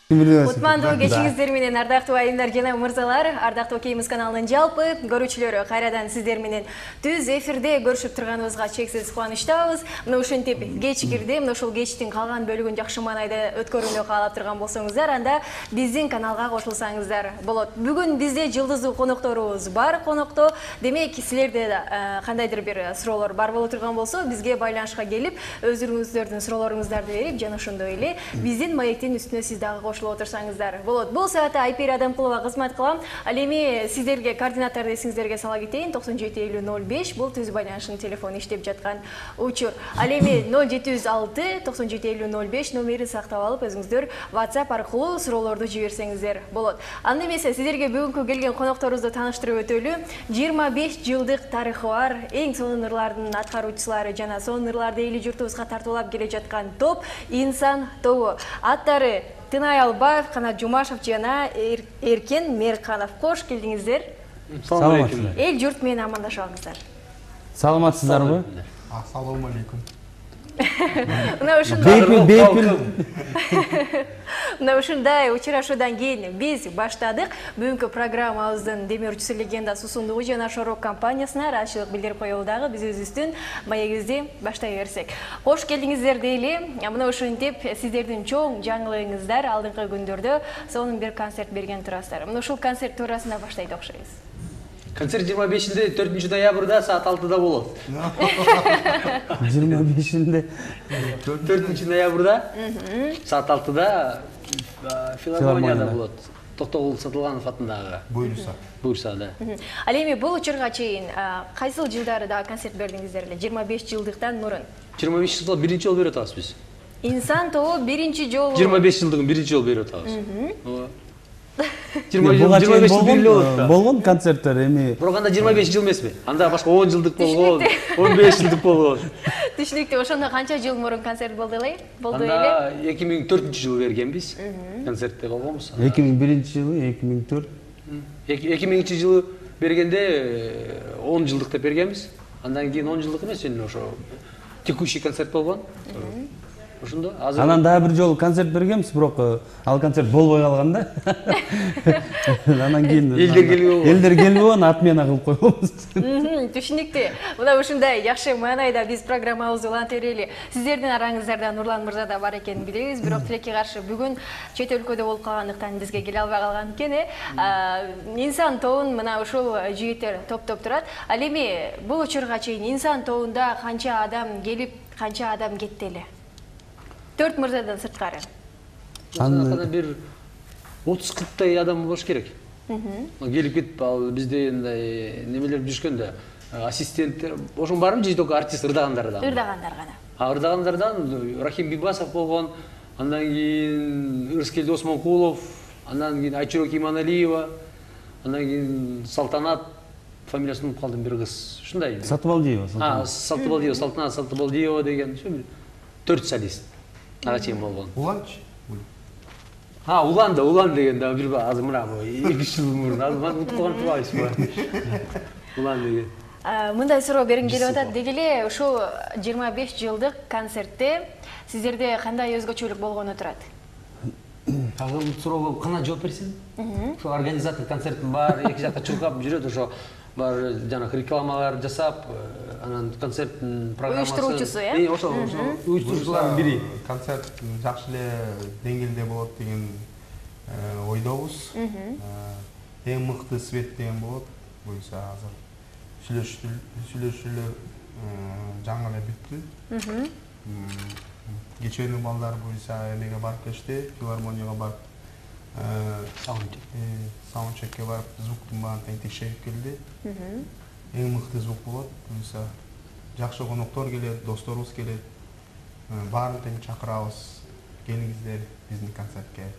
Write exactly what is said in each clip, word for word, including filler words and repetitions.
Кутмандуу кечиңиздер менен ардактуу айымдар жана мырзалар, ардактуу Кеймиз каналынын жалпы көрүүчүлөрү, кайрадан сиздер менен түз эфирде көрүшүп турганыбызга чексиз кубанычтабыз. Мына ушинтип кеч кирди, мына ушул кечтин калган бөлүгүн жакшы маанайда өткөрүүнү каалап турган болсоңуздар, анда биздин каналга кошулсаңыздар болот. Бүгүн бизде жылдыздуу конокторубуз бар. Конокто, демек, силерде кандайдыр бир суроолор бар боло турган болсо, бизге байланышка келип, өзүңүздөрдүн суроолоруңуздарды берип, жана ошондой эле биздин маектин үстүнө сиз дагы кошулуп отурсаңыздар болот. Бул саатта Айпери Адамкулова кызмат кылам. Ал эми сиздерге координаттарды эсиңиздерге сала кетейин. токсон жети элүү ноль беш бул түз байланыштын телефону иштеп жаткан учур. Ал эми ноль жети жүз алты токсон жети элүү ноль беш номерин сактап алып, өзүңүздөр WhatsApp аркылуу суроолорду жиберсеңиздер болот. Анда эмесе сиздерге бүгүнкү келген конокторубузду тааныштырып өтөлү. жыйырма беш жылдык тарыхы бар, эң сонун ырлардын аткаруучусулары жана сонун ырларды эли журтубузга тартуулап келе жаткан топ Инсан тобу. Аттары Тынай Албаев, Канат Жумашев жана Эркен Мерканов. Кош келдиңиздер. Саламатсыздар. Эл журт менен амандашабыңыздар. Саламатсыздарбы? Ассаламу алейкум. Мына ушундай Бейпил. Мына ушундай учурашуудан кийин биз баштадык. Бүгүнкү программабыздын демөөрчүсү Легенда Сусундугу жана Шорок компаниясына ыраазычылык билдирип коелу дагы биз өзүбүздүн маегибизди баштай берсек. Кош келдиңиздер дейли. Мына ушинтип сиздердин чоң жаңылыгыңыздар алдыңкы күндөрдө сонун бир концерт берген турасыздар. Мына ушул концерт туурасында баштайды окшойбуз. Концерт жыйырма бешинде төртүнчү ноябрда саат алтыда болот. жыйырма бешинде төртүнчү ноябрда саат алтыда филармонияда болот. Токтогул Сатылганов атындагы. Буюрса. Буюрса, да. Ал эми бул учурга чейин кайсыл жылдары да концерт бердиңиздер эле? жыйырма беш жылдыктан мурун. жыйырма беш жылда биринчи жолу берип атабыз биз. Инсан тобу биринчи жолу. жыйырма беш жылдыгын биринчи жолу берип атабыз. жыйырма беш жыл болгон болгон концерттер эми. Бирок анда жыйырма беш жыл эмеспи? Анда башка он жылдык болгон, он беш жылдык болгон. Түшүнүктүү. Ошондо канча жыл мурун концерт болду эле? Болду эле? Анда эки миң төртүнчү жылы бергенбиз. Концертте болгонбуз. эки миң биринчи жылы, эки миң төрт. эки миңинчи жылы бергенде он жылдык деп бергенбиз. Андан кийин он жылдык эмес, эми ошо текущий концерт болгон. Ошондо азыр Анан дагы бир жолу концерт бергенбиз, бирок ал концерт болбой калган да. Анан кийин элдер келбей элдер келбей аны отмена кылып койгонбуз. Түшүнүктүү. Мына ушундай жакшы маанайда биз программабызды улантып берели. Сиздердин араңыздарда Нурлан мырза да бар экенин билебиз, бирок тилекке каршы бүгүн чет өлкөдө болуп калгандыктан бизге келе албай калган экен. Инсан тобун мына ушул жигиттер топтоп турат. Ал эми бул учурга чейин Инсан тобунда канча адам келип, канча адам кетти эле? Төрт мырзадан сырткары. Анда бир отуз кырктай адам болуш керек. Келип кетип, ал бизде мындай немелер жүрүшкөн да, ассистенттер, ошонун баарын же только артист ырдагандардан. Ырдагандар гана. А ырдагандардан Рахим Бибасов болгон, андан кийин Ырыскелди Осмонкулов, андан кийин Айчурок Иманалиева, андан кийин Салтанат, фамилиясын унутуп калдым, бир кыз. Ушундай. Сатыбалдиева. А, Сатыбалдиева, Салтанат Сатыбалдиева деген, төрт солист. Ага чейин болгон. Уланчы? А, Улан да, Улан деген да бир азыр мына эки жыл мурун, азыр унутуп калган турбайсызбы? Улан деген. Мындай суроо бергим келип атат. Деги эле ушул жыйырма беш жылдык концертте сиздерде кандай өзгөчөлүк болгону турат? Азыр бул суроого кана жооп берсем? Ошо организатор концерттин бар, эки жакка чуркап жүрөт, ошо бар жана рекламалар жасап, анан концерттин программасы. Уюштуруучусу, э? Ошо, уюштуруучулардын бири. Концерт жакшы эле деңгээлде болот деген ойдобуз. Эң мыкты свет деген болот. Буюрса азыр сүйлөшүүлөр жаңы эле бүттү. Кечээни балдар буюрса эмеге барып келишти, филармонияга барып саундчекке барып, звуктун баарын тең текшерип келди. Эң мыкты звук болот. Буюрса жакшы коноктор келет, досторубуз келет. Баарын тең чакырабыз. Келиңиздер биздин концертке.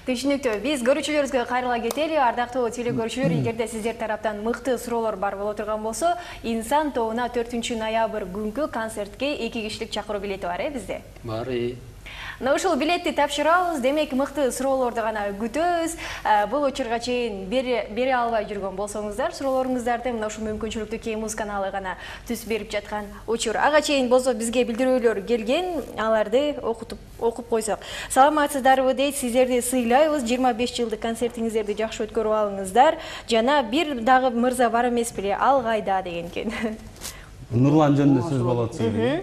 Түшүнүктүү. Биз көрүүчүлөрүбүзгө кайрыла кетели. Ардактуу телекөрүүчүлөр, эгерде сиздер тараптан мыкты суроолор бар боло турган болсо, Инсан тобуна төртүнчү ноябрь күнкү концертке эки кишилик чакыруу билети бар, э, бизде? Бар, э. Мына ушул билетти тапшырабыз, демек мыкты суроолорду гана күтөбүз. Бул учурга чейин бере албай жүргөн болсоңуздар, суроолоруңуздарды мына ушул мүмкүнчүлүктүү Кей Муз каналы гана түз берип жаткан учур. Ага чейин болсо бизге билдирүүлөр келген, аларды окутуп окуп койсок. Саламатсыздарбы дейт, сиздерди сыйлайбыз. жыйырма беш жылдык концертиңиздерди жакшы өткөрүп алыңыздар. Жана бир дагы мырза бар эмес беле, ал кайда деген экен. Нурлан жөнүндө сөз болот сизге.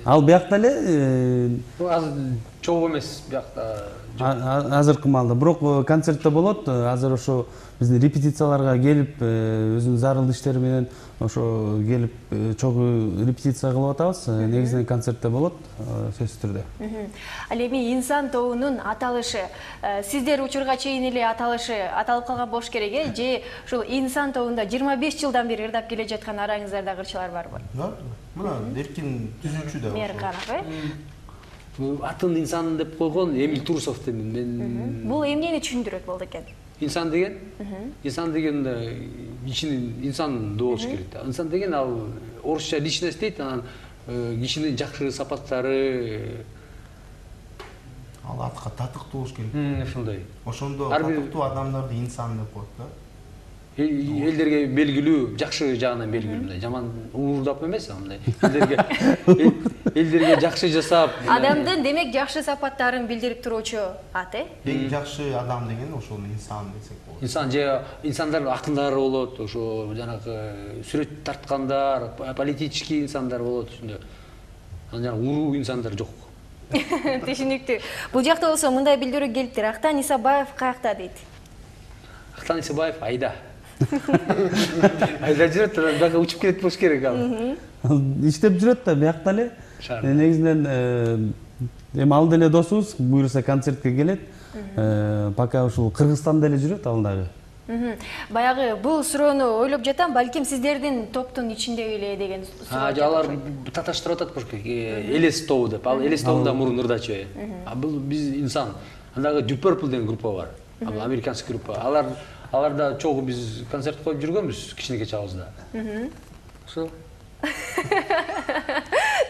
Ал биякта эле азыр чогуу эмес биякта. Азыркы маалда, бирок концертте болот. Азыр ошо биздин репетицияларга келип, өзүнүн зарыл иштери менен ошо келип чогуу репетиция кылып атабыз. Негизинен концертте болот, сөзсүз түрдө. Ал эми инсан тобунун аталышы, сиздер учурга чейин эле аталышы аталып калган болуш керек, э? Же ушул инсан тобунда жыйырма беш жылдан бери ырдап келе жаткан араңыздарда кырчылар барбы? Бар. Мына Эркин түзүүчү да. Мерканов, э? Атын инсан деп койгон Эмиль Турсов дейм мен. Бул эмнени түшүндүрөт болду экен? Инсан деген, инсан деген кишинин инсан болуш керек да. Инсан деген ал орусча личность дейт, анан кишинин жакшы сапаттары, ал атка татыктуу болуш керек. Ошондой. Ошондо татыктуу адамдарды инсан деп коет да. Элдерге белгилүү, жакшы жагынан белгилүү, жаман уурдап эмес, андай. Элдерге элдерге жакшы жасап, адамдын демек жакшы сапаттарын билдирип туруучу ат, э? Эң жакшы адам деген ошол инсан десек болот. Инсан же инсандар акындары болот, ошо жанагы сүрөт тарткандар, политический инсандар болот, ошондой. Анан жана уруу инсандар жок. Түшүнүктүү. Бул жакта болсо мындай билдирүү келиптир. Актан Исабаев каякта дейт? Актан Исабаев айда. Айда жүрөт, бияка учуп келет болуш керек ал. Иштеп жүрөт да, биякта эле. Негизинен эми ал деле досубуз, буюрса концертке келет. Пока ушул Кыргызстанда эле жүрөт ал дагы. Баягы бул суроону ойлоп жатам, балким сиздердин топтун ичинде эле деген суроо. А, алар таташтырып атат болуш керек. Элес тобу деп. Ал Элес тобунда мурун ырдачу. А бул биз инсан. Андагы Deep Purple деген группа бар. Ал американский группа. Алар аларда чогуу биз концерт коюп жүргөнбүз кичинекей чагыбызда. Ошо.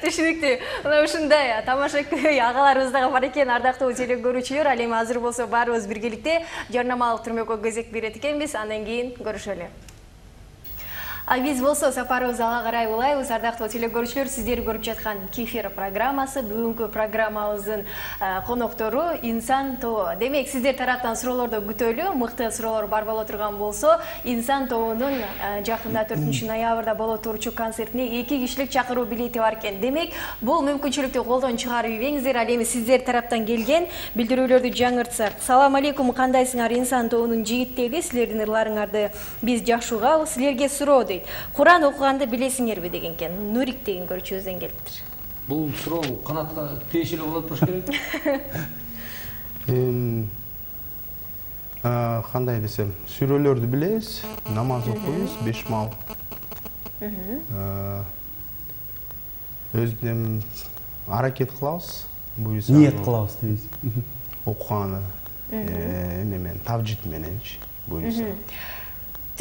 Түшүнүктүү. Мына ушундай тамашакөй агаларыбыз дагы бар экен, ардактуу теле көрүүчүлөр. Ал эми азыр болсо баарыбыз биргеликте жарнамалык түрмөккө кезек берет экенбиз, андан кийин көрүшөлү. А биз болсо сапарыбызды ала карай улайбыз. Ардактуу теле көрүүчүлөр, сиздер көрүп жаткан Кефир программасы. Бүгүнкү программабыздын коноктору инсан тобу. Демек, сиздер тараптан суроолорду күтөлү. Мыкты суроолор бар боло турган болсо, инсан тобунун жакында төртүнчү ноябрда боло турчу концертине эки кишилик чакыруу билети бар экен. Демек, бул мүмкүнчүлүктү колдон чыгарып ийбеңиздер. Ал эми сиздер тараптан келген билдирүүлөрдү жаңыртсак. Салам алейкум, кандайсыңар инсан тобунун жигиттери? Силердин ырларыңарды биз жакшы угабыз. Силерге суроо дейт. Куран окуганды билесиңерби деген экен. Нурик деген көрүүчүбүздөн келиптир. Бул суроо канатка тиешелүү болот болуш керек. Эм кандай десем, сүрөлөрдү билебиз, намаз окуйбуз беш маал. Өзүнөн аракет кылабыз, буюрса ниет кылабыз дейбиз. Окуганы эме менен, тавжид мененчи, буюрса.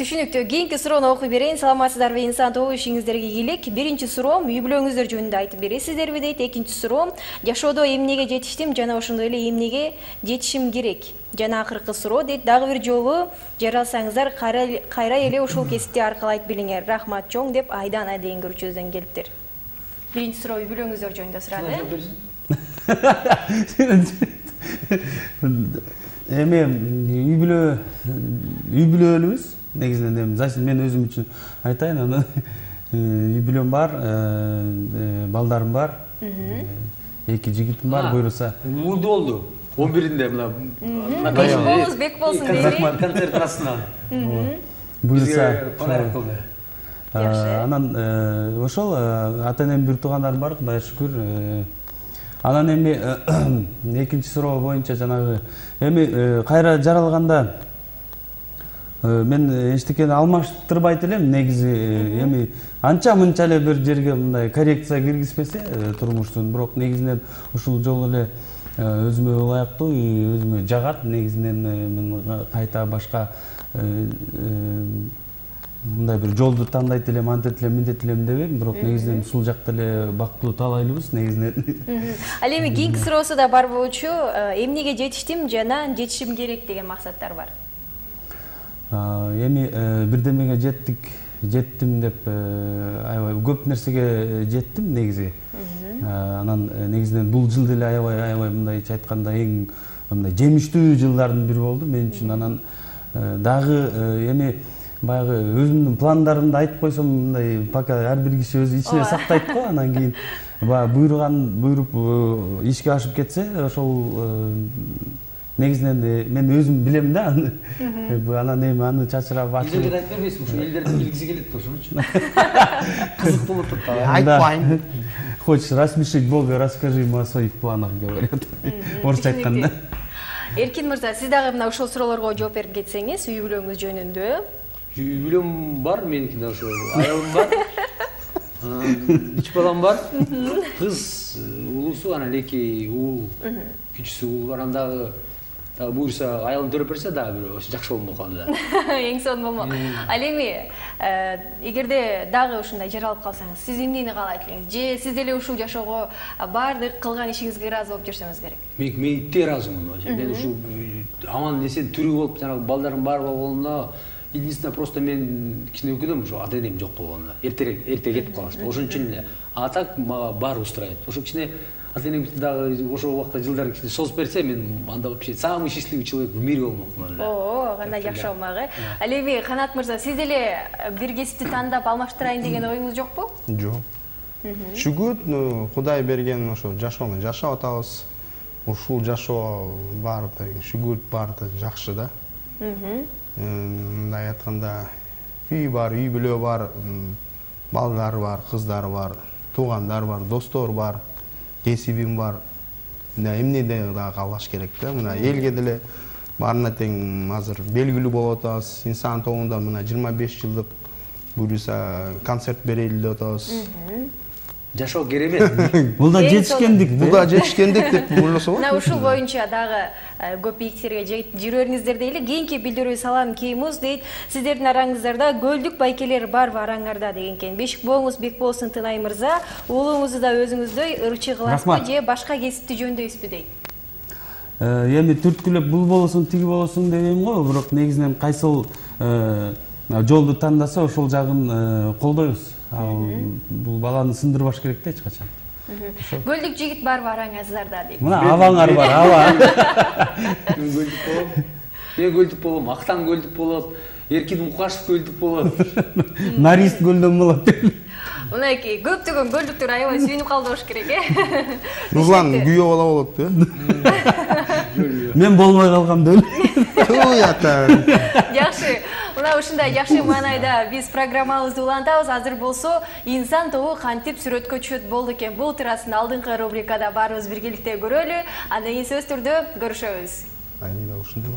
Түшүнүктүү. Кийинки суроону окуй берейин. Саламатсыздарбы, инсан тобу, ишиңиздерге ийгилик. Биринчи суроом, үй бүлөңүздөр жөнүндө айтып бересиздерби дейт. Экинчи суроом, жашоодо эмнеге жетиштим жана ошондой эле эмнеге жетишим керек? Жана акыркы суроо дейт. Дагы бир жолу жаралсаңыздар, кайра эле ушул кесипти аркылайт билиңер. Рахмат чоң деп Айдана деген көрүүчүбүздөн келиптир. Биринчи суроо үй бүлөңүздөр жөнүндө сурады. Эми үй бүлө үй бүлөлүбүз. Негизинен эми зачем мен өзүм үчүн айтайын, аны үй бүлөм бар, балдарым бар, эки жигитим бар, буюрса. Мурду болду. он биринде мына беш болуңуз бек болсун дейли. Концерт арасынан. Буюрса подарок кылды. Анан ошол ата-энем бир туугандарым бар, Кудайга шүкүр. Анан эми экинчи суроо боюнча жанагы эми кайра жаралганда мен эчтекени алмаштырбайт элем. Негизи эми анча мынча эле бир жерге мындай коррекция киргизбесе турмуштун, бирок негизинен ушул жолу эле өзүмө ылайыктуу, өзүмө жагат. Негизинен мен кайта башка мындай бир жолду тандайт элем, антет элем, минтет элем дебейм, бирок негизинен ушул жакта эле бактылуу талайлыбыз негизинен. Ал эми кийинки суроосу да бар болчу, эмнеге жетиштим жана жетишим керек деген максаттар бар. Эми бирдемеге жеттик, жеттим деп аябай көп нерсеге жеттим негизи. Анан негизинен бул жыл деле аябай аябай мындайча айтканда эң мындай жемиштүү жылдардын бири болду мен үчүн. Анан дагы эми баягы өзүмдүн пландарымды айтып койсом мындай пока ар бир киши өзү ичине сактайт го. Анан кийин баягы буйруган буйруп ишке ашып кетсе ошол негизинен мен өзүм билем да аны. Анан эми аны чачырап ачып элдерге айтып бербейсиң, ошо элдердин билгиси келет ошончу. Кызык болуп турат да. Айтпайм. Хочешь рассмешить Бога, расскажи ему о своих планах, говорят. Орусча айтканда. Эркин мырза, сиз дагы мына ушул суроолорго жооп берип кетсеңиз, үй бүлөңүз жөнүндө. Үй бүлөм бар, меники да ошо аялым бар. Үч балам бар. Кыз улуусу, анан эки уул, күчүсү уул бар. Андагы дагы буюрса аялым төрөп берсе дагы бир ошо жакшы болмок анда. Эң сонун болмок. Ал эми эгерде дагы ушундай жаралып калсаңыз, сиз эмнени каалайт элеңиз? Же сиз деле ушул жашоого баардык кылган ишиңизге ыраазы болуп жүрсөңүз керек? Мен мейитте ыраазымын. Мен ушул аман эсен тирүү болуп, жанагы балдарым бар болгонуна единственное просто мен кичине өкүнөм ошо ата энем жок болгонуна. Эртерээк эрте кетип калышты. Ошон үчүн эле. А так мага баары устраивает. Ошо кичине ата энем дагы ошол убакта жылдары кичине созуп берсе, мен анда вообще самый счастливый человек в мире болмокмун. О, кандай жакшы болмак э. Ал эми Канат мырза, сиз деле бир кесипти тандап алмаштырайын деген оюңуз жокпу? Жок. Шүгүр Кудай берген ошо жашоону жашап атабыз. Ушул жашоо баары шүгүр баары жакшы да. Мындай айтканда үй бар, үй бүлө бар, балдар бар, кыздар бар, туугандар бар, достор бар, кесибим бар. Мына эмне дагы каалаш керек да. Мына элге деле баарына тең азыр белгилүү болуп атабыз. Инсан тобунда мына жыйырма беш жылдык буюрса концерт берели деп атабыз. Жашоо керемет. Бул да жетишкендик. Бул да жетишкендик деп ойлосо болот. Мына ушул боюнча дагы көп бийиктерге жүрөрүңүздөр дейли. Кийинки билдирүү салам Кеймуз дейт. Сиздердин араңыздарда көлдүк байкелер барбы араңарда деген экен. Бешик бооңуз бек болсун Тынай мырза. Уулуңузду да өзүңүздөй ырчы кыласызбы же башка кесипти жөндөйсүзбү дейт. Эми түрткүлөп бул болосун, тиги болосун дебейм го, бирок негизинен кайсыл жолду тандаса ошол жагын колдойбуз. Бул баланы сындырбаш керек да эч качан. Көлдүк жигит барбы араңыздарда дейт. Мына абаңар бар, аба. Мен көлдүк болом. Мен көлдүк болом, Актан көлдүк болот, Эркин Мукашев көлдүк болот. Нарист көлдөн болот. Мынакей көптөгөн көлдүктөр аябай сүйүнүп калды болуш керек э. Руслан күйөө бала болот да. Мен болмой калгам деп. Туй ата. Жакшы. Мына ушундай жакшы маанайда биз программабызды улантабыз. Азыр болсо инсан тобу кантип сүрөткө түшөт болду экен. Бул турасында алдыңкы рубрикада баарыбыз биргеликте көрөлү. Андан кийин сөз түрдө көрүшөбүз. Айда ушундай.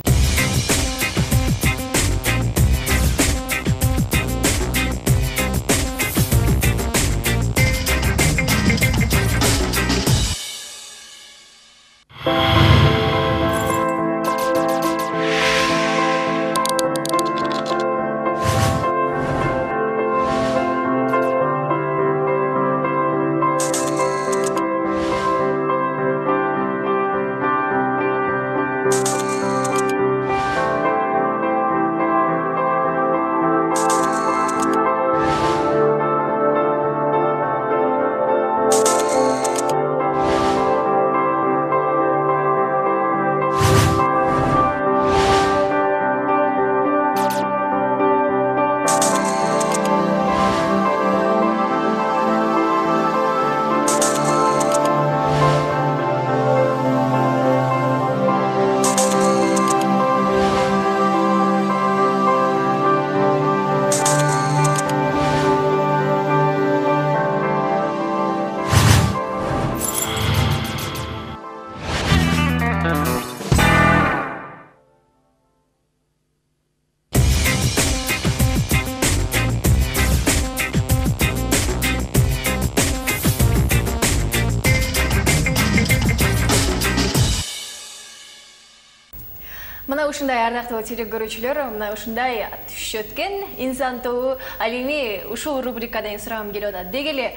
ушундай ардактуу теле көрүүчүлөр, мына ушундай түшүп өткөн инсан тобу. Ал эми ушул рубрикадан сурагым келип атат. Деги эле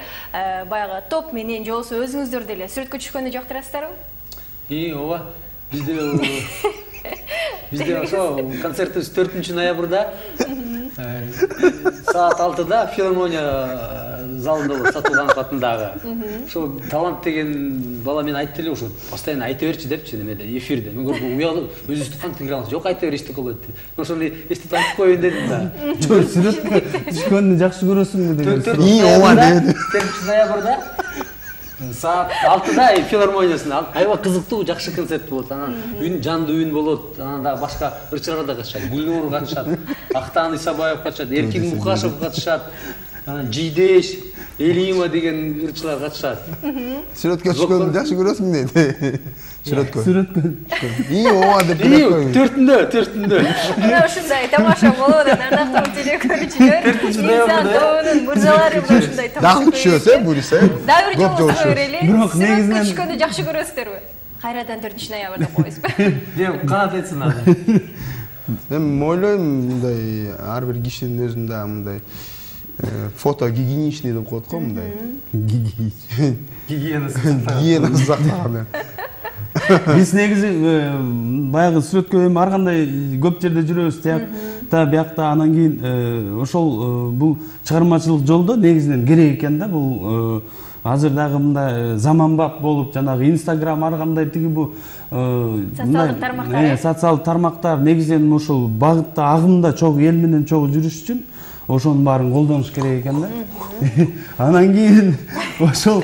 баягы топ менен же болбосо өзүңүздөр деле сүрөткө түшкөндү жактырасыздарбы? И ооба. Бизде бизде ошо концертибиз төртүнчү ноябрда саат алтыда филармония залында болот, Сатылганов атындагы. Ошо талант деген бала мен айтты эле ошо постоянно айта берчи депчи немеде, эфирде. Мен көрдүм, уяда өзүбүздү кантип кире алабыз? Жок, айта бер, эчтеке болбойт деп. Мен ошону эстеп айтып коеюн дедим да. Жок, сүрөткө түшкөндү жакшы көрөсүңбү деген суроо. И ооба деди. төртүнчү ноябрда саат алтыда филармониясында аябай кызыктуу, жакшы концерт болот. Анан үн, жандуу үн болот. Анан дагы башка ырчылар да катышат. Гүлнур катышат, Актан Исабаев катышат, Эркин Мукашев катышат. Анан Жийдеш, Элима деген ырчылар катышат. Сүрөткө түшкөндү жакшы көрөсүң дейт. Сүрөткө. Сүрөткө. И ооба деп коюң. Төртүндө, төртүндө. Мына ушундай тамаша болот, ардактуу теле көрүүчүлөр. Инсан тобунун мырзалары мына ушундай тамаша. Дагы түшөсө, буйруса. Дагы бир жолу суроо берели. Бирок Сүрөткө негизинен түшкөндү жакшы көрөсүздөрбү? Кайрадан төртүнчү ноябрда коесузбу? Деп канат айтсын аны. Мен ойлойм, мындай ар бир кишинин өзүндө мындай фото гигиеничный деп коет го, мындай. Гигиенасы. Гигиенасы сактаган. биз негизи баягы сүрөткө эми ар кандай көп жерде жүрөбүз, тиякта, биякта, анан кийин ошол бул чыгармачылык жолдо негизинен керек экен да. Бул азыр дагы мындай заманбап болуп, жанагы Инстаграм, ар кандай тиги бу социалдык тармактар, социалдык тармактар негизинен ошол багытта, агымда чогуу эл менен чогуу жүрүш үчүн ошонун баарын колдонуш керек экен да. Анан кийин ошол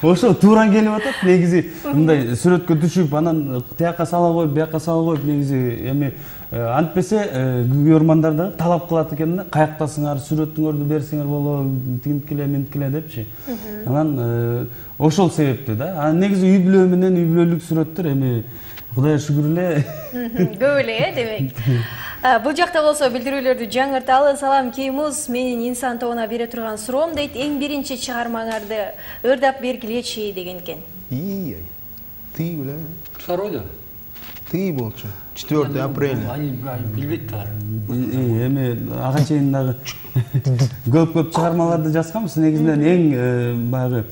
ошол туура келип атат. Негизи мындай сүрөткө түшүп, анан тиякка сала коюп, бияка сала коюп, негизи эми антпесе көрөрмандар да талап кылат экен да. Каяктасыңар, сүрөтүңөрдү берсеңер болобу, тинткиле, менткиле депчи. Анан ошол себептүү да. Анан негизи үй бүлө менен үй бүлөлүк сүрөттөр эми Кудайга шүгүр эле. Көп эле, э, демек. Бул жакта болсо билдирүүлөрдү жаңырталы. Салам Кеймуз, менин инсан тобуна бере турган суроом дейт. Эң биринчи чыгармаңарды ырдап бергилечи деген экен. И, ты беле. Второй Ты болчу. четвёртого апреля. Они билбейт да. Эми ага чейин дагы көп-көп чыгармаларды жазганбыз. Негизинен эң баягы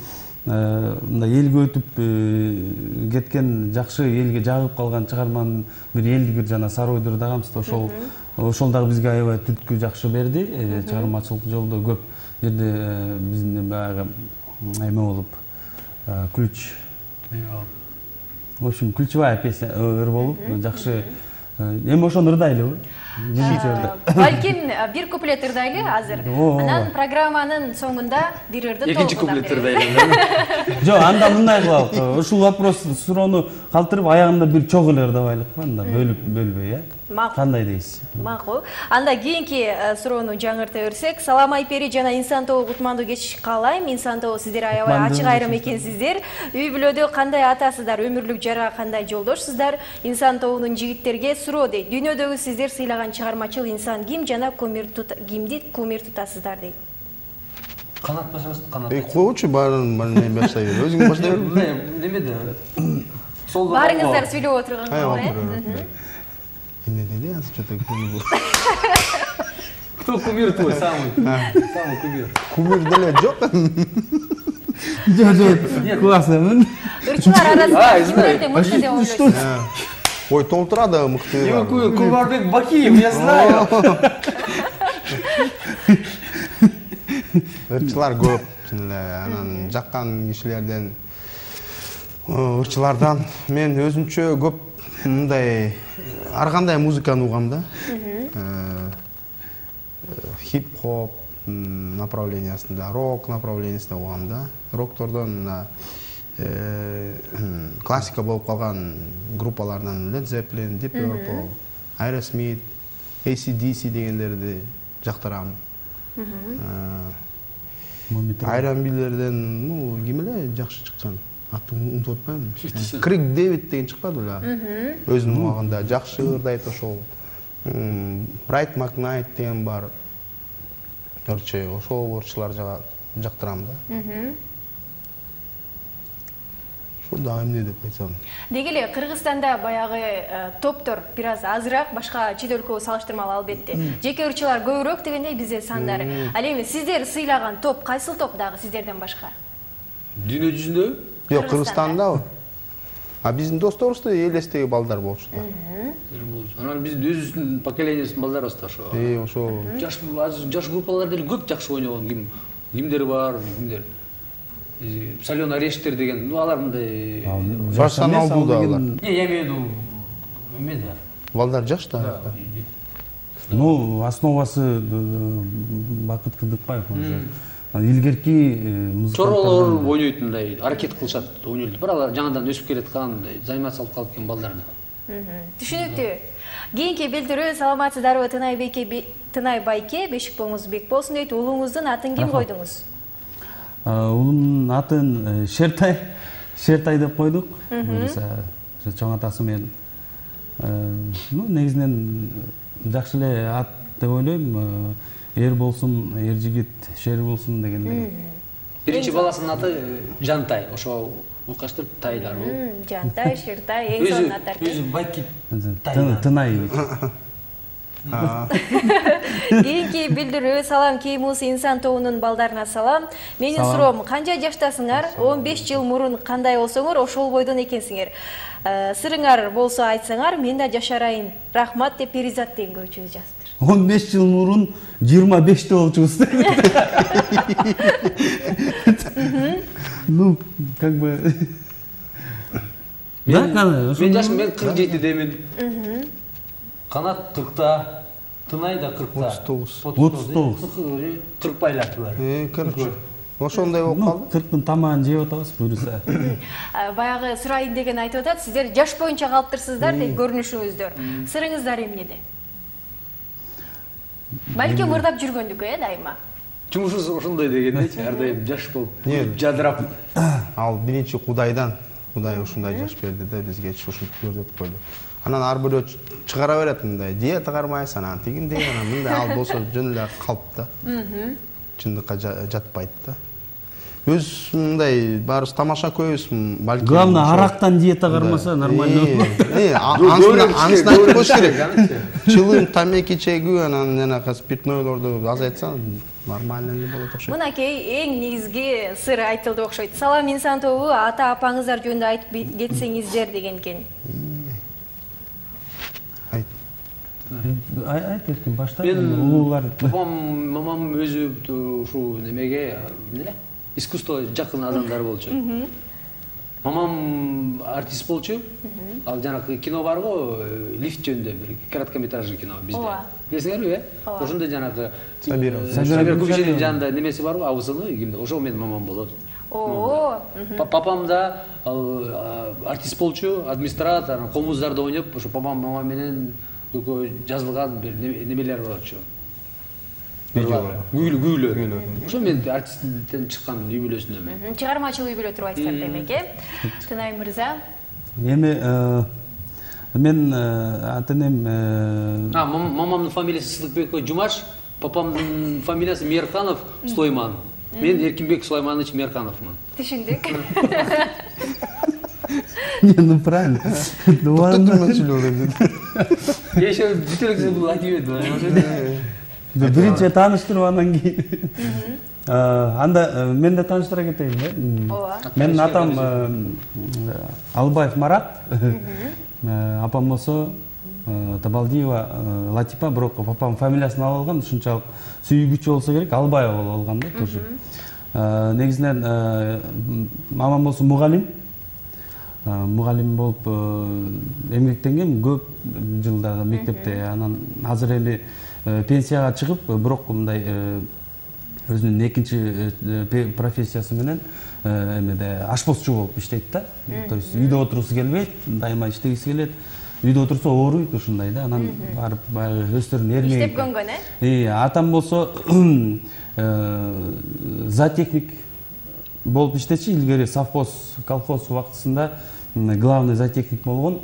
мындай элге өтүп кеткен, жакшы элге жагып калган чыгарманын бир элдигир жана Сары ойдор дагамыз. Ошол ошол дагы бизге аябай түрткү жакшы берди. Чыгармачылык жолдо көп жерде биздин баягы эме болуп, ключ. В общем, ключевая песня ыр болуп, жакшы. Эми ошону ырдайлыбы? Балким бир куплет ырдайлы азыр. Анан программанын соңунда бир ырды толук. Экинчи куплет ырдайлы. Жок, анда мындай кылалы. Ушул вопрос суроону калтырып, аягында бир чогуу эле ырдабайлыкпы, анда бөлүп бөлбөй, э? Кандай дейсиз? Макул. Анда кийинки суроону жаңырта берсек, Салам Айпери жана инсан тобу кутмандуу кеч каалайм. Инсан тобу сиздер аябай ачык айрым экенсиздер. Үй бүлөдө кандай атасыздар, өмүрлүк жара кандай жолдошсуздар? Инсан тобунун жигиттерге суроо дейт. Дүйнөдөгү сиздер сыйлаган чыгармачыл инсан ким жана кумир кимди кумир тутасыздар дейт. Канат башыбыз, канат. Эй, койчу баарын мен баштай бер. Өзүң баштай бер. Немеде? Сол Барыңыздар сүйлөп отурган, э? Не dedi ya что-то кумир. Кто кумир твой самый? Самый кумир. Кумир деле жок. Жок, жок. Классно. Ырчылар арасында кимдерди мыкты деп ойлойсуз? Ой, толтурады мыкты. Кулбарбек Бакиев, я знаю. Ырчылар көп, анан жаккан кишилерден, ырчылардан мен өзүнчө көп мындай ар кандай музыканы угам да. Хип-хоп направлениясында, рок направлениясында угам да. Роктордон классика болуп калган группалардан Led Zeppelin, Deep Purple, Aerosmith, A C D C дегендерди жактырам. Айран билерден, ну, ким эле жакшы чыккан? Атын унутуп атпайм. Крик Дэвид деген чыкпады беле? Өзүнүн убагында жакшы ырдайт ошол. Bright McKnight деген бар. Короче, ошол ырчылар жактырам да. ошол дагы эмне деп айтсам. Деги эле Кыргызстанда баягы топтор бир аз азыраак, башка чет өлкөгө салыштырмалуу албетте. Жеке ырчылар көбүрөөк дегендей бизде сандар. Ал эми сиздер сыйлаган топ кайсыл топ дагы сиздерден башка? Дүйнө жүзүндө? Жок, Кыргызстандабы? А биздин досторубузда элестеги балдар болчу да. Анан биздин өзүбүздүн поколениябыздын балдары да ошо. Э, ошо Жаш жаш группалар деле көп жакшы ойногон ким кимдер бар, кимдер. Солёный орешектер деген, ну алар мындай профессионалдуу да алар. Не, я имею в виду эме да. Балдар жаш да. Ну, основасы Бакыт Кыдыкбаев уже. Илгерки музыканттардан Чоролор ойнойт мындай, аракет кылышат, ойнойт. Бирок алар жаңадан өсүп келаткан, заниматься алып калып келген балдар да. Түшүнүктүү. Кийинки билдирүү саламатсыздарбы Тынай байке, Бешик болуңуз бек болсун дейт. Уулуңуздун атын ким койдуңуз? Уулумдун атын Шертай, Шертай деп койдук. Буюрса, чоң атасы менен. Ну, негизинен жакшы эле ат деп ойлойм. Эр болсун, эр жигит, шер болсун дегендей. Биринчи баласынын аты Жантай, ошо укаштырып Тайлар бул. Жантай, Шертай, эң сонун аттар. Өзү байки Тынай. Кийинки билдирүү салам Кеймус инсан тобунун балдарына салам. Менин суроом, канча жаштасыңар? он беш жыл мурун кандай болсоңор, ошол бойдон экенсиңер. Сырыңар болсо айтсаңар, мен да жашарайын. Рахмат деп Перизат деген көрүүчүбүз жазыптыр. он беш жыл мурун жыйырма беште болчубуз. Ну, как бы Мен жашым, мен кырк жетидемин. Канат кыркта, Тынай да кыркта. отуз тогуз. отуз тогуз. кырк байлар. Э, кырк. Ошондой болуп калды. кырктын тамагын жеп атабыз, буюрса. Баягы сурайын деген айтып атат, сиздер жаш боюнча калыптырсыздар деп көрүнүшүңүздөр. Сырыңыздар эмнеде? Балким ырдап жүргөндүкү, э, дайыма. Жумушубуз ошондой дегендейчи, ар дайым жаш болуп, жадырап. Ал биринчи Кудайдан, Кудай ушундай жаш берди да бизге, ушинтип көрсөтүп койду. Анан ар бирөө чыгара берет мындай, диета кармайсың, анан тигиндей, анан мындай, ал болсо жөн эле калп да. Чындыкка жатпайт да. Өз мындай баарыбыз тамаша көбүз, балким. Главное, арактан диета кармаса нормально. Э, анысын айтып коюш керек. Чылым, тамеки чегүү, анан жанагы спиртнойлорду азайтса нормально эле болот окшойт. Мынакей эң негизги сыр айтылды окшойт. Салам инсан тобу ата апаңыздар жөнүндө айтып кетсеңиздер деген экен. Айт. Айт эркин башта. Уулар. Папам, мамам өзү ушу немеге, эмне? Искусство жакын адамдар болчу. Мамам артист болчу. Ал жанагы кино бар го, лифт жөнүндө бир короткометражный кино bizde. Билесиңерби, э? Ошондо жанагы Сабир Кубишевдин жанында немеси бар го, абысыны, кимде? Ошо менин мамам болот. О. Папам да артист болчу, администратор, комуздарда ойноп, ошо папам мамам менен экөө жазылган бир немелер болчу. Күйлүү, күйлүү. Ошо мен артисттен чыккан үй бүлөсүндөмүн. Чыгармачыл үй бүлө турбайсыздар демек, э? Тынай мырза. Эми мен ата-энем мамамдын фамилиясы Сыдыкбеков Жумаш, папамдын фамилиясы Мерканов Сулайман. Мен Эркинбек Сулайманович Меркановмун. Түшүндүк. Ну правильно. Токтотурман сүйлөп. Я ещё бүтөлөксө бул айтып эдим. Биринчи тааныштырып андан кийин. Анда мен да тааныштыра кетейин, э? Ооба. Менин атам Албаев Марат. Апам болсо Табалдиева Латипа, бирок папам фамилиясын алып алган, ушунчалык сүйгүчү болсо керек, Албаева болуп алган да тоже. Негизинен мамам болсо мугалим. Мугалим болуп эмгектенген көп жылдар мектепте. Анан азыр эми пенсияга чыгып, бирок мындай өзүнүн экинчи профессиясы менен эмеде ашпозчу болуп иштейт да. То есть үйдө отургусу келбейт, дайыма иштегиси келет. Үйдө отурса ооруйт ушундай да. Анан барып баягы өздөрүн эрмек. Иштеп көнгөн, э? Э, атам болсо зоотехник болуп иштечи, илгери совхоз, колхоз убактысында главный зоотехник болгон.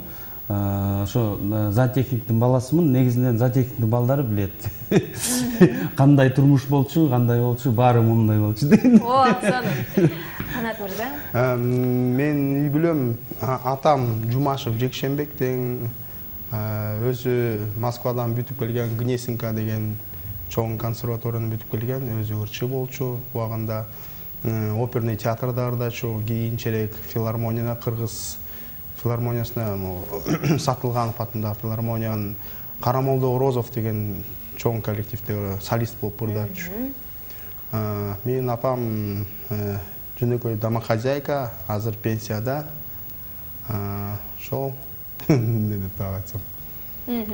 ошо зоотехниктин баласымын, негизинен зоотехниктин балдары билет. Кандай турмуш болчу, кандай болчу, баары мындай болчу деген. О, сонун. Канат мырза? Мен үй бүлөм, атам Жумашев Жекшенбек тең, өзү Москвадан бүтүп келген, Гнесинка деген чоң консерваторияны бүтүп келген, өзү ырчы болчу. Убагында оперный театрда ырдачу, кийинчерээк филармонияда, Кыргыз филармониясына, Сатылганов атындагы филармониянын Карамолдо Розов деген чоң коллективде солист болуп ырдачу. Менин апам жөнөкөй домохозяйка, азыр пенсияда. Ошол эмне деп айтсам.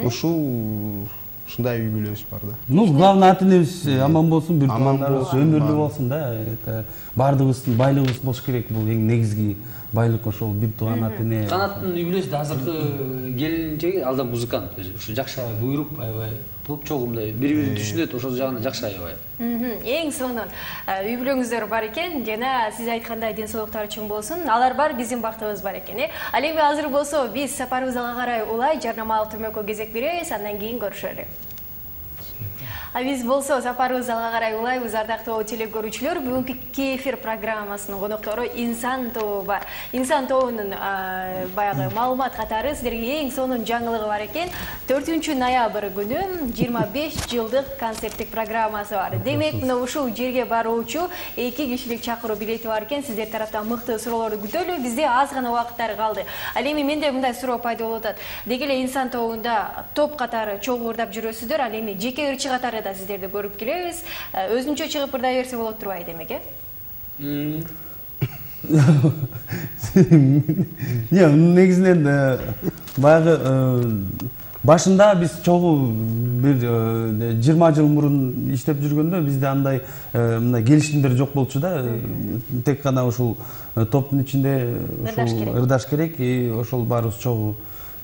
Ушул ушундай үй бүлөбүз бар да. Ну, главный ата энебиз аман болсун, бир туугандарыбыз өмүрлүү болсун да. Бардыгыбыздын байлыгыбыз болуш керек, бул эң негизги байлык ошол бир тууган ата эне. Канаттын үй бүлөсүндө азыркы келинчеги алда музыкант, ушу жакшы буйруп, аябай клуб чогумдай бири-бирин түшүнөт, ошол жагынан жакшы аябай. Эң сонун үй бүлөңүздөр бар экен, жана сиз айткандай ден соолуктары чоң болсун. Алар бар, биздин бактыбыз бар экен, э. Ал эми азыр болсо биз сапарыбызга карай улай жарнамалык түрмөккө кезек беребиз, андан кийин көрүшөлү. А биз болсо сапарыбыз алга карай улайбыз, ардактуу телекөрүүчүлөр. Бүгүнкү Кефир программасынын коноктору Инсан тобу бар. Инсан тобунун баягы маалымат катары сиздерге эң сонун жаңылыгы бар экен. төртүнчү ноябрь күнү жыйырма беш жылдык концерттик программасы бар. Демек, мына ушул жерге баруучу эки кишилик чакыруу билети бар экен. Сиздер тараптан мыкты суроолорду күтөлү. Бизде аз гана убакыттар калды. Ал эми менде мындай суроо пайда болуп атат. Деги эле Инсан тобунда топ катары чогуу ырдап жүрөсүздөр, ал эми жеке ырчы катары да сиздерди көрүп келебиз. Өзүнчө чыгып ырдай берсе болот турбайбы демек, э? Не, негизинен баягы башында биз чогуу бир жыйырма жыл мурун иштеп жүргөндө бизде андай мындай келишимдер жок болчу да. Тек гана ушул топтун ичинде ырдаш керек, и ошол баарыбыз чогуу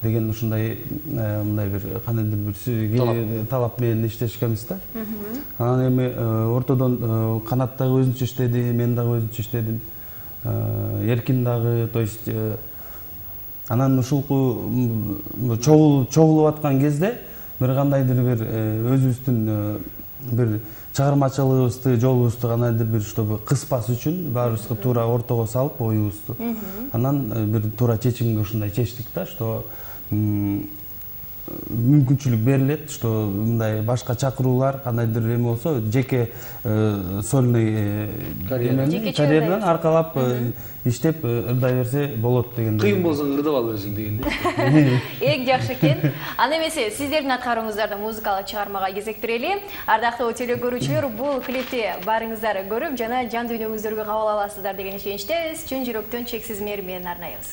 деген ушундай мындай бир кандайдыр бир талап менен иштешкенбиз да. Анан эми ортодон Канат дагы өзүнчө иштеди, мен дагы өзүнчө иштедим. Эркин дагы, то есть анан ушулку чогулуп аткан кезде бир кандайдыр бир өзүбүздүн бир чыгармачылыгыбызды, жолубузду кандайдыр бир чтобы кыспас үчүн баарыбызга туура ортого салып оюбузду. Анан бир туура чечимге ушундай чечтик да, что мүмкүнчүлүк берилет, что мындай башка чакыруулар кандайдыр эме болсо, жеке сольный карьеранан аркалап иштеп ырдай берсе болот деген. Кыйын болсоң ырдап ал өзүң дегенде. Эң жакшы экен. Аны эмесе сиздердин аткарууңуздарда музыкалык чыгармага кезек берели. Ардактуу телекөрүүчүлөр, бул клипти барыңыздар көрүп жана жан дүйнөңүздөргө кабыл аласыздар деген ишеничтебиз. Чын жүрөктөн чексиз мээри менен арнайбыз.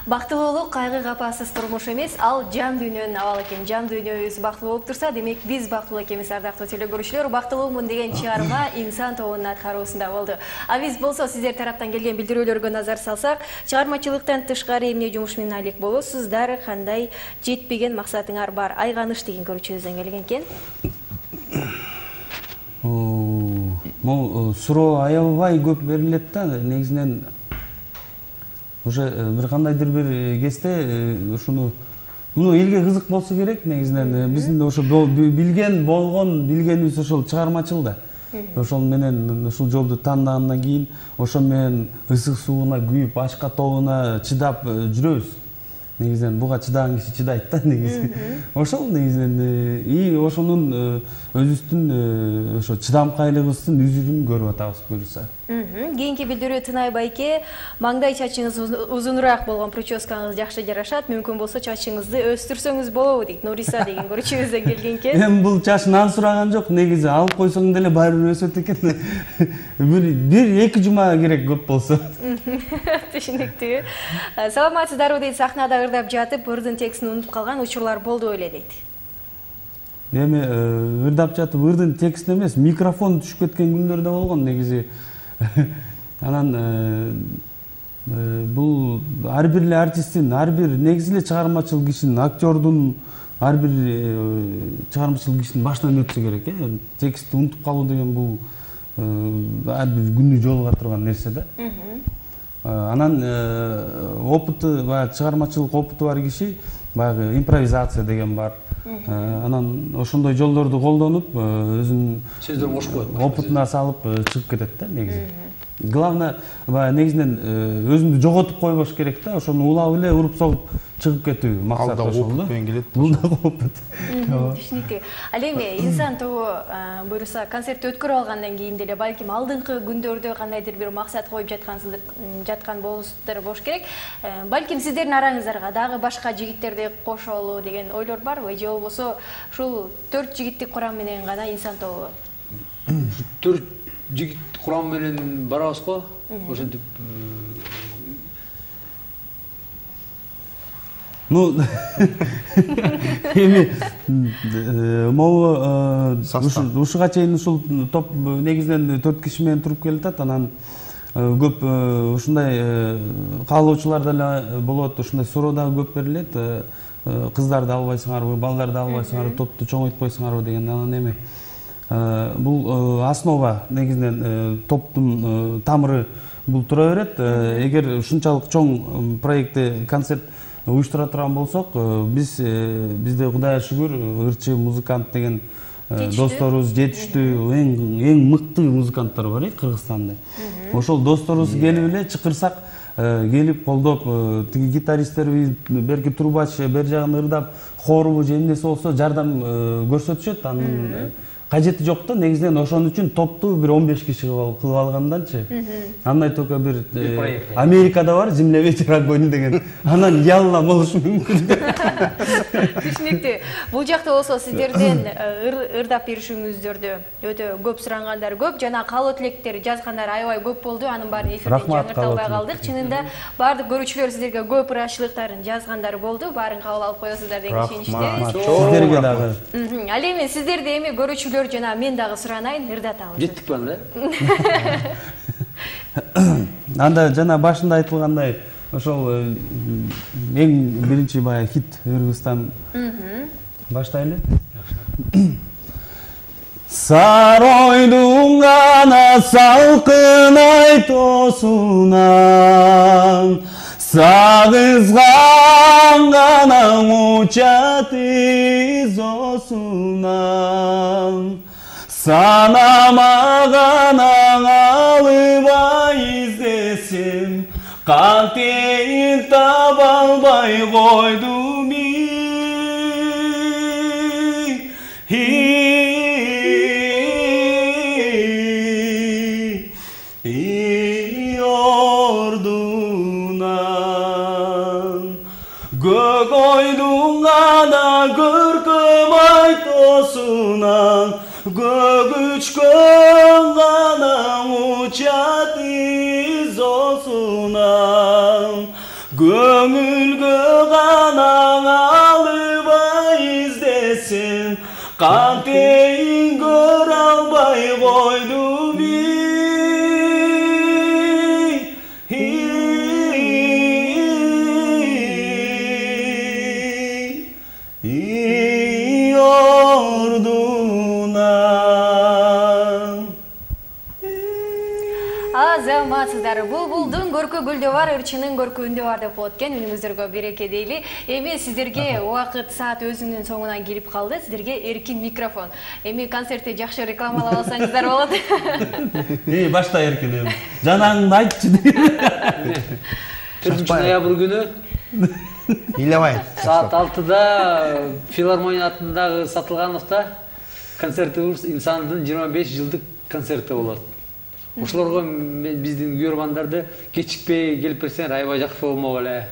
Бактылуулук кайгы капасыз турмуш эмес, ал жан дүйнөнүн абалы экен. Жан дүйнөбүз бактылуу болуп турса, демек биз бактылуу экенбиз, ардактуу телекөрүүчүлөр. Бактылуумун деген чыгарма инсан тобунун аткаруусунда болду. А биз болсо сиздер тараптан келген билдирүүлөргө назар салсак, чыгармачылыктан тышкары эмне жумуш менен алек болосуздар, кандай жетпеген максатыңар бар? Айганыш деген көрүүчүбүздөн келген экен. Могу суроо аябай көп берилет да, негизинен уже бир кандайдыр бир кезде ушуну муну элге кызык болсо керек. Негизинен биздин ошо билген болгон билгенибиз ошол чыгармачыл да. Ошол менен ушул жолду тандагандан кийин ошо менен ысык сууна күйүп, ашка тобуна чыдап жүрөбүз. Негизинен буга чыдаган киши чыдайт да негизи. Ошол негизинен и ошонун өзүбүздүн ошо чыдамкайлыгыбыздын үзүрүн көрүп атабыз буюрса. Кийинки билдирүү Тынай байке, маңдай чачыңыз узунураак болгон прическаңыз жакшы жарашат, мүмкүн болсо чачыңызды өстүрсөңүз болобу дейт. Нуриса деген көрүүчүбүздөн келген экен. Эми бул чачынан сураган жок, негизи алып койсоң деле баары бир өсөт экен. Бир эки жума керек көп болсо. Түшүнүктүү. Саламатсыздарбы дейт, сахнада ырдап жатып, ырдын текстин унутуп калган учурлар болду эле дейт. Эми ырдап жатып ырдын текстин эмес, микрофон түшүп кеткен күндөр да болгон негизи. Анан бул ар бир эле артисттин, ар бир негизи эле чыгармачыл кишинин, актердун ар бир чыгармачыл кишинин башынан өтсө керек, э. Текстти унутуп калуу деген бул ар бир күнү жолуга турган нерсе да. Анан опыты, баягы чыгармачылык опыту бар киши, баягы импровизация деген бар. Анан ошондой жолдорду колдонуп, өзүнүн сөздөрүн кошуп коет, опытына салып чыгып кетет да негизи. Главное, баягы негизинен өзүңдү жоготуп койбош керек да, ошону улап эле уруп согуп чыгып кетүү максат ошол да. Бул да опыт. Түшүнүктүү. Ал эми инсан тобу буюрса концертти өткөрүп алгандан кийин деле балким алдыңкы күндөрдө кандайдыр бир максат коюп жаткансыздар, жаткан болосуздар болуш керек. Балким сиздердин араңыздарга дагы башка жигиттерди кошолу деген ойлор барбы? Же болбосо ушул төрт жигиттик курам менен гана инсан тобу? Төрт жигит курам менен барабыз го. Ошентип Ну, эми могу ушуга чейин ушул топ негизинен төрт киши менен туруп келатат. Анан көп ушундай каалоочулар деле болот, ушундай суроо дагы көп берилет. Кыздарды албайсыңарбы, балдарды албайсыңарбы, топту чоңойтпойсуңарбы деген. Анан эми бул основа негизинен топтун тамыры бул тура берет. Эгер ушунчалык чоң проектте концерт уюштура турган болсок, биз бизде Кудайга шүгүр ырчы музыкант деген досторубуз жетиштүү, эң эң мыкты музыканттар бар Кыргызстанда. Ошол досторубуз келип эле чакырсак, келип колдоп, тиги гитаристтерби, берки трубач бер жагын ырдап, хорбу же эмнеси болсо жардам көрсөтүшөт. Анын кажети жок да, негизинен ошон үчүн топту бир он беш киши кылып алганданчы. Андай только бир Америкада бар, земля ветер огонь деген. Анан ялла болушу мүмкүн. Түшүнүктүү. Бул жакта болсо сиздерден ырдап беришиңиздөрдү өтө көп сурангандар көп, жана каалоо тилектер жазгандар аябай көп болду. Анын баарын эфирде жаңырталбай калдык. Чынында баардык көрүүчүлөр сиздерге көп ыраазычылыктарын жазгандар болду. Баарын кабыл алып коесуздар деген ишеничте. Сиздерге дагы. Ал эми сиздерди эми көрүүчүлөр жана мен дагы суранайын, ырдатабыз. Жеттик банда. Анда жана башында айтылгандай, ошол эң биринчи баягы хит Кыргызстан. Баштайлы. Саройдун гана салкын айтосунан, сагызган гана учат изосунан, санамаган алыбай издесем, кантейин таба албай койдум ордунан. Көк ойдун гана көркөм айтосунан, көгүчкөн гана учат изосунан, көңүлгө гана алыбай издесем, кантейин көрө албай койдум Азаматсыздар, булбулдун көркү гүлдө бар, ырчынын көркү үндө бар деп болот экен. Үнүңүздөргө береке дейли. Эми сиздерге убакыт саат өзүнүн соңуна келип калды. Сиздерге эркин микрофон. Эми концертти жакшы рекламалап алсаңыздар болот. Эй, башта эркин эми. Жанаңды айтчы. төртүнчү ноябрь күнү Илебай. Саат алтыда филармония атындагы Сатылгановдо концертибиз инсандын жыйырма беш жылдык концерти болот. Ошолорго мен биздин күйөрмандарды кечикпей келип берсеңер аябай жакшы болмок эле.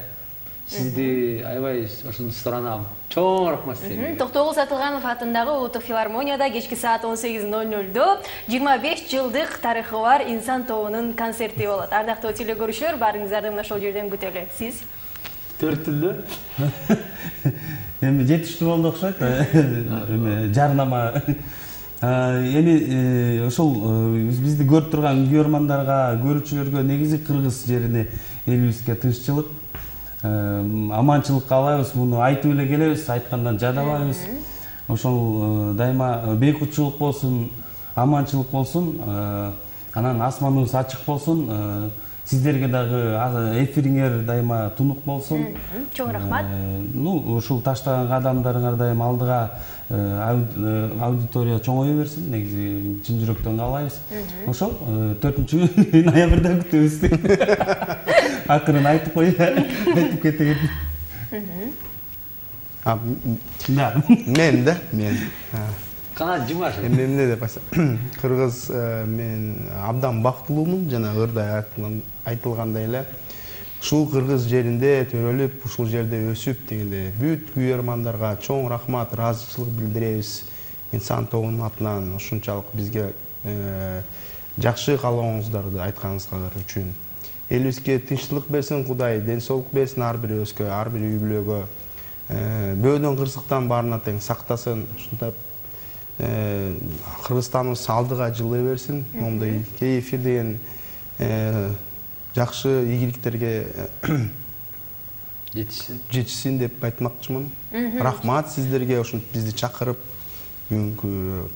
Сизди аябай ошону суранам. Чоң рахмат сизге. Токтогул Сатылганов атындагы Улуттук филармонияда кечки саат он сегиз ноль нольдо жыйырма беш жылдык тарыхы бар инсан тобунун концерти болот. Ардактуу телекөрүүчүлөр, баарыңыздарды мына ошол жерден күтөлү. Сиз төрт тилде эми жетиштүү болду окшойт. Эми жарнама эми ошол бизди көрүп турган күйөрмандарга, көрүүчүлөргө негизи кыргыз жерине, элибизге тынччылык, аманчылык каалайбыз. Муну айтып эле келебиз, айткандан жадабайбыз. Ошол дайыма бейкутчулук болсун, аманчылык болсун, анан асманыбыз ачык болсун. Сиздерге дагы эфириңер дайыма тунук болсун. Чоң рахмат. Ну, ушул таштаган кадамдарыңар дайыма алдыга аудитория чоңое берсин. Негизи чын жүрөктөн каалайбыз. Ошол төртүнчү ноябрда күтөбүз. Акырын айтып кой, айтып кетейин. Мен да, мен. Канат Жумаш. Эми эмне деп айтсам, кыргыз мен абдан бактылуумун, жана ырда айтылгандай эле. Ушул кыргыз жеринде төрөлүп, ушул жерде өсүп дегенде бүт күйөрмандарга чоң рахмат, ыраазычылык билдиребиз. Инсан тобунун атынан ушунчалык бизге жакшы каалооңуздарды айтканыңыздар үчүн. Элибизге тынччылык берсин Кудай, ден соолук берсин ар бир өзгө, ар бир үй бүлөгө. Бөөдөн кырсыктан баарына тең сактасын. Ушунтип Кыргызстаныбыз алдыга жылый берсин. Момундай кей эфир деген жакшы ийгиликтерге жетишсин. Жетишсин деп айтмакчымын. Рахмат сиздерге ушинтип бизди чакырып, бүгүнкү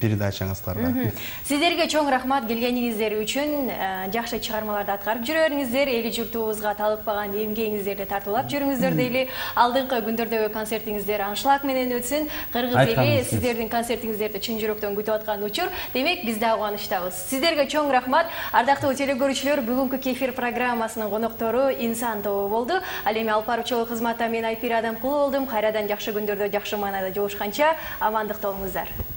передачаңыздарга. Сиздерге чоң рахмат келгениңиздер үчүн. Жакшы чыгармаларды аткарып жүрөңүздөр, эли журтубузга талыкпаган эмгегиңиздерди тартуулап жүрүңүздөр дейли. Алдыңкы күндөрдөгү концертиңиздер аншлаг менен өтсүн. Кыргыз эли сиздердин концертиңиздерди чын жүрөктөн күтүп аткан учур. Демек, биз да кубанычтабыз. Сиздерге чоң рахмат. Ардактуу телекөрүүчүлөр, бүгүнкү кефир программасынын коноктору Инсан тобу болду. Ал эми алып баруучулук кызматта мен Айпира Адамкулова болдум. Кайрадан жакшы күндөрдө жакшы маанайда жолугушканча амандыкта болуңуздар.